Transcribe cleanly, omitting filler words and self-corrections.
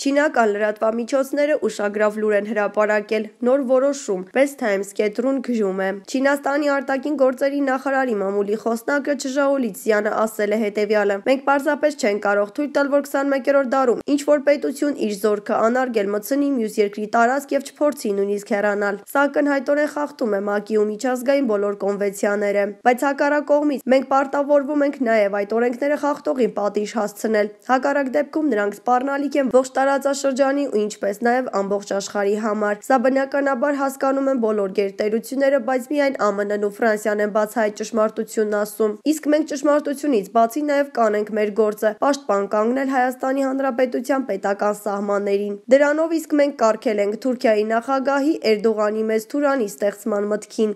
Չինական լրատվամիջոցները ուշագրավ լուր են հրապարակել։ Նոր որոշում, West Times կետրուն գրում է։ Չինաստանի արտաքին գործերի նախարարի մամուլի խոսնակը Չժաոլիցյանը ասել է հետևյալը. «Մենք պարզապես չենք կարող թույլ տալ, որ 21-րդ դարում ինչ-որ պետություն իր զորքը անարգել մտցնի մյուս երկրի տարածք եւ չփորձի նույնիսկ հեռանալ։ Սա ակնհայտորեն խախտում է ՄԱԿ-ի ու միջազգային բոլոր կոնվենցիաները։ Բայց հակառակ կողմից մենք պարտավորվում ենք նաեւ այդ օրենքները խախտողին պատիժ հասցնել։ Հակառակ դեպքում նրանք սպառնալիք են ողջ տարածաշրջանի ու ինչպես նաեւ ամբողջ աշխարհի համար։ Սա բնականաբար հասկանում են բոլոր գերտերությունները, բայց միայն ԱՄՆ-ն ու Ֆրանսիան են բացահայտ ճշմարտությունն ասում։ Իսկ մենք ճշմարտությունից բացի նաեւ կանենք մեր գործը՝ պաշտպան կանգնել Հայաստանի Հանրապետության պետական սահմաններին։ Դրանով իսկ մենք կարգել ենք Թուրքիայի նախագահի Էրդողանի մեծ թուրանի ստեղծման մտքին»։